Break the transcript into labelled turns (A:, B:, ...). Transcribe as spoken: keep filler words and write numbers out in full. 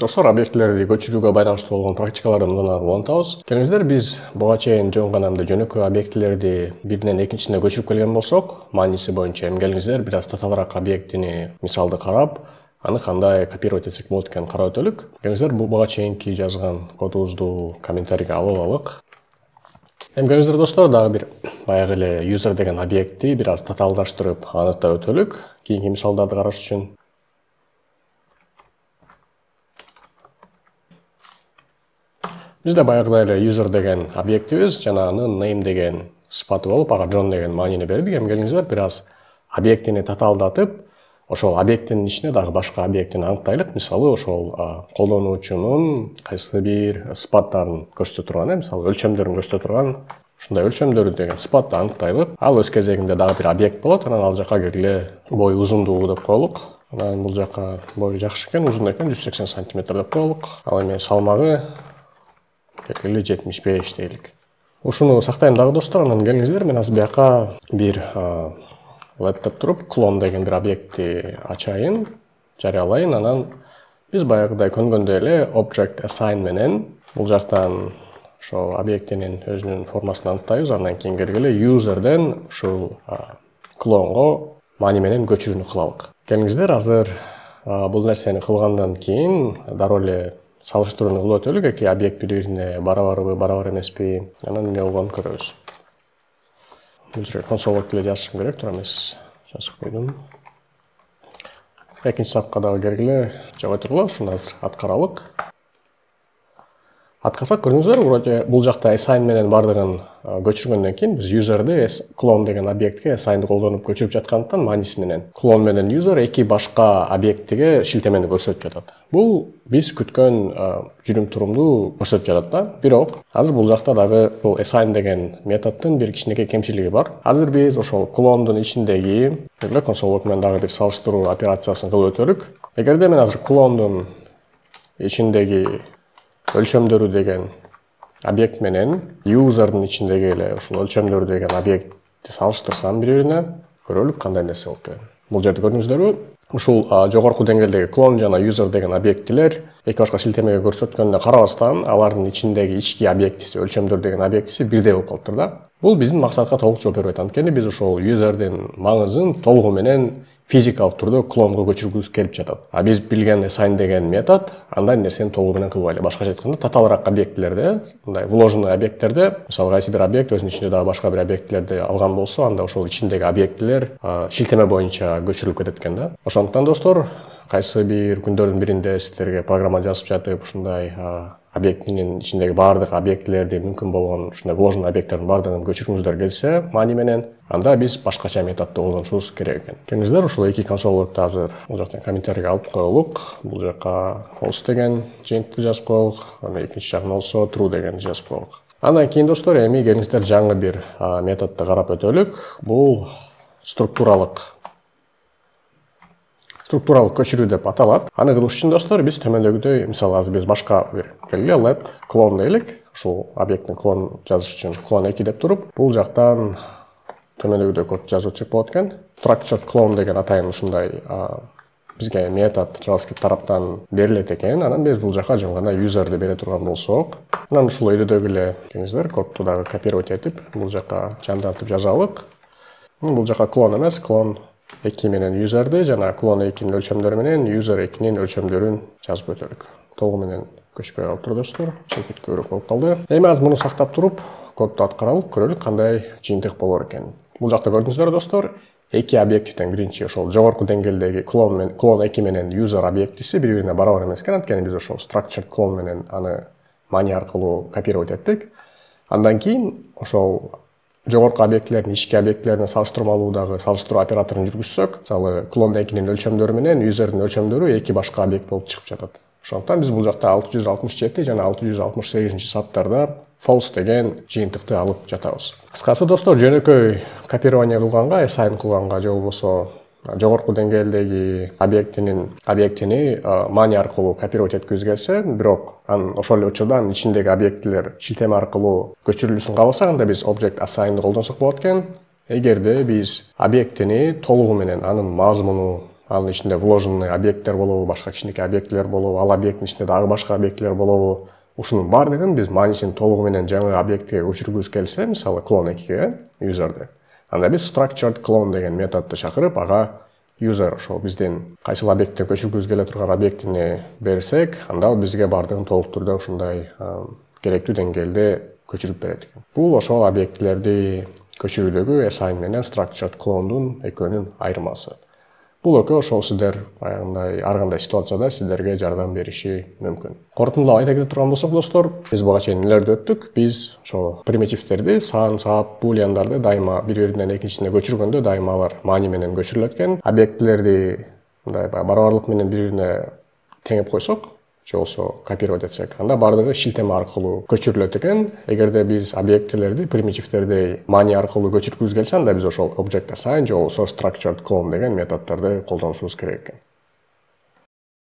A: Достор, объектилерди көчүрүүгө байланыштуу болгон практикаларды мындан ары улантабыз. Келиңиздер, биз буга чейин жөн гана жөнөкөй объектилерди биринен экинчисине көчүрүп келген болсок, мааниси боюнча эми келиңиздер бир аз татаалраак объектини мисалды карап, аны кандай копировать этсек болот экенин карап өтөлүк. Келиңиздер, буга чейинки жазган кодубузду комментарийге алып алалык. Эми келиңиздер достор, дагы бир баягы эле user деген объектти бир аз татаалдаштырып аныктап өтөлүк кийинки мисалдарды караш үчүн. Бизде баягыдай эле user деген объектибиз жана анын name деген сыпаты болуп, ага John деген маанини бердик. Эми келиңиздер бир аз объектини татаалдатып, ошол объекттин ичине дагы башка объектини аныктайлык. Мисалы, ошол колдонуучунун кайсы бир сыпаттарын көрсөтө турган, мисалы өлчөмдөрүн көрсөтө турган ушундай өлчөмдөрү деген сыпатты аныктайлык. Ал өз кезегинде дагы бир объект болот. Анан ал жака келгиле бою узундугу деп коелук. Анан бул жака бою жакшы экен, узун экен, жүз сексен сантиметр деп коелук. Ал эми салмагы келгиле жетимиш беш дейлик. Ушуну сактайм дагы достор. Анан келиңиздер, мен азыр бияка бир let деп туруп клон деген бир объектти ачайын, жарыялайын. Анан биз баягыдай көнгөндөй эле object assign менен бул жактан ошол объектинин өзүнүн формасын аныктайбыз. Андан кийин келгиле userден ушул клонго маани менен көчүрүүнү кылалык. Келиңиздер, азыр бул нерсени кылгандан кийин дароо эле салыштырууну кылып өтөлүк. Эки объект бири-бирине барабарбы, барабар эмеспи? Анан эмне болгонун көрөбүз. Бул жерге console лог деле жазышым керек, туура эмес. Жазып койдум. Экинчи сапка дагы келгиле жабай тургула, ушуну азыр аткаралык. Аткарсак, көрдүңүздөр, вроде бул жакта assign менен бардыгын көчүргөндөн кийин биз userди клон деген объектке assign'ды колдонуп көчүрүп жаткандыктан мааниси менен клон менен user эки башка объектиге шилтемени көрсөтүп жатат. Бул биз күткөн жүрүм турумду көрсөтүп жатат да. Бирок азыр бул жакта дагы бул assign деген методдун бир кичинекей кемчилиги бар. Азыр биз ошол клондун ичиндеги console log менен дагы бир салыштыруу операциясын кылып өтөлүк. Эгерде мен азыр клондун ичиндеги өлчөмдөрү деген объект менен userдын ичиндеги эле ушул өлчөмдөрү деген объектти салыштырсам бири-бирине, көрөлүк кандай нерсе болуп кетет. Бул жерде көрдүңүздөрбү? Ушул жогорку деңгээлдеги клон жана user деген объектилер эки башка шилтемеге көрсөткөнүнө карабастан, алардын ичиндеги ички объектиси, өлчөмдөр деген объектиси бирдей болуп калыптыр да. Бул биздин максатка толук жооп бербейт. Анткени биз ошол userдин маңызын толугу менен физикалык түрдө клонго көчүргүбүз келип жатат. А биз билген assign деген метод андай нерсени толугу менен кылбай эле. Башкача айтканда, татаалраак объектилерде, мындай вложенный объекттерде, мисалы кайсы бир объект өзүнүн ичинде дагы башка бир объектилерди алган болсо, анда ошол ичиндеги объектилер шилтеме боюнча көчүрүлүп кетет экен да. Ошондуктан достор, кайсы бир күндөрдүн биринде сиздерге программа жазып жатып, ушундай объектинин ичиндеги баардык объектилерди мүмкүн болгон ушундай вложенный объекттердин баардыгын көчүргүңүздөр келсе, маани менен, анда биз башкача методду колдонушубуз керек экен. Келиңиздер, ушул эки console log'ду азыр бул жактан комментарийге алып коелук. Бул жака false деген жыйынтыкты жазып коелук, анан экинчи жагына болсо true дегенди жазып коелук. Андан кийин достор, эми келиңиздер жаңы бир методду карап өтөлүк. Бул структуралык структуралык көчүрүү деп аталат. Аны кылыш үчүн достор, биз төмөндөгүдөй, мисалы азыр биз башка бир келгиле let клон дейлик. Ушул объекттин клон жазыш үчүн клон эки деп туруп, бул жактан төмөндөгүдөй код жазып өтсөк болот экен. Structured clone деген атайын ушундай бизге метод JavaScript тараптан берилет экен. Анан биз бул жака жөн гана userди бере турган болсок, анан ушул өйдөдөгү эле келиңиздер кодду дагы копировать этип, бул жака жандантып жазалык. Бул жака клон эмес, клон эки менен userди жана клон экинин өлчөмдөрү менен user экинин өлчөмдөрүн жазып өтөлүк. Толугу менен көчпөй калыптыр достор, чекит көбүрөөк болуп калды. Эми азыр муну сактап туруп, кодду аткаралык, көрөлүк кандай жыйынтык болор экен. Бул жакта көрдүңүздөр достор, эки объектиптен биринчи ошол жогорку деңгээлдеги клон менен клон эки менен user объектиси бири-бирине барабар эмес экен. Анткени биз ошол structured clone менен аны маани аркылуу копировать эттик. Андан кийин ошол жогорку объектилердин ички объектилерине салыштырмалуу дагы салыштыруу операторун жүргүзсөк, мисалы клон экинин өлчөмдөрү менен userдин өлчөмдөрү эки башка объект болуп чыгып жатат. Ошондуктан биз бул жакта алты жүз алтымыш жети жана алты жүз алтымыш сегизинчи саптарда false деген жыйынтыкты алып жатабыз. Кыскасы достор, жөнөкөй копирование кылганга, assign кылганга же болбосо жогорку деңгээлдеги объектинин объектини маани аркылуу копировать эткибиз келсе, бирок анын ошол эле учурда анын ичиндеги объектилер шилтеме аркылуу көчүрүлүшүн кааласак, анда биз object assign'ды колдонсок болот экен. Эгерде биз объектини толугу менен анын мазмуну анын ичинде вложенный объекттер болобу, башка кичинекей объектилер болобу, ал объекттин ичинде дагы башка объектилер болобу. Ушунун баардыгын биз манисин толугу менен жаңы объектке көчүргүбүз келсе, мисалы клон экиге user'ды, анда биз structured clone деген методду чакырып, ага user ошол биздин кайсыл объектке көчүргүбүз келе турган объектини берсек, анда ал бизге баардыгын толук түрдө ушундай керектүү деңгээлде көчүрүп берет экен. Бул ошол объектилерди көчүрүүдөгү assign менен structured clone'дун экөөнүн айырмасы. Бул экөө ошол сиздер баягындай ар кандай ситуацияда сиздерге жардам бериши мүмкүн. Корутундалап айта кетип турган болсок, достор, биз буга чейин нелерди өттүк? Биз ошо примитивдерди, сан, сап, булиандарды дайыма бири-биринен экинчисине көчүргөндө дайыма алар мани менен көчүрүлөт экен. Объектилерди мындай барабарлык менен бири-бирине теңеп койсок, же болсо копировать этсек, анда баардыгы шилтеме аркылуу көчүрүлөт экен. Эгерде биз объектилерди, примитивдерди мани аркылуу көчүргүбүз келсе, анда биз ошол object assign же болсо structured clone деген методдорду колдонушубуз керек экен.